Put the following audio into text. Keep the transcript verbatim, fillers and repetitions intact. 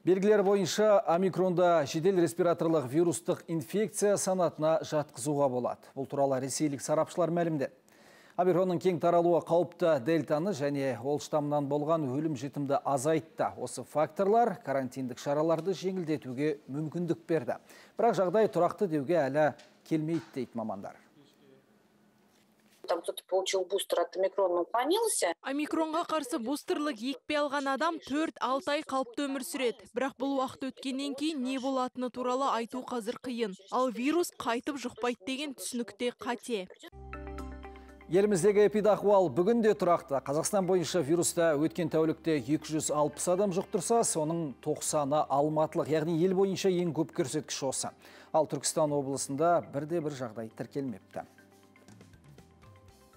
Белгілер бойынша омикронда жедел респираторлық вирустық инфекция санатына жатқызуға болады. Бұл туралы ресейлік сарапшылар мәлімдеді. Омикронның кең таралуы қауіпті дельтаны және ол штамынан болған өлім жітімді азайтты. Осы факторлар карантиндік шараларды жеңілдетуге мүмкіндік берді. Бірақ жағдай тұрақты деуге әлі келмейді дейді мамандар. Там кто-то получил бустер от омикрона, уклонился. Омикронға қарсы бустерлік екпе алған адам төрт-алты ай қалыпты өмір сүреді. Бірақ бұл уақыт өткеннен кейін не болатыны туралы айту қазір қиын. Ал вирус қайтып жұқпайды деген түсінікте қате. Еліміздегі эпидахуал бүгінде тұрақты. Қазақстан бойынша вируста өткен тәулікте екі жүз алпыс адам жұқтырса, соның тоқсаны алматылық, яғни ел бойынша ең көп көрсеткіш осы. Ал Түркістан облысында бірде бір жағдай тіркелмепті.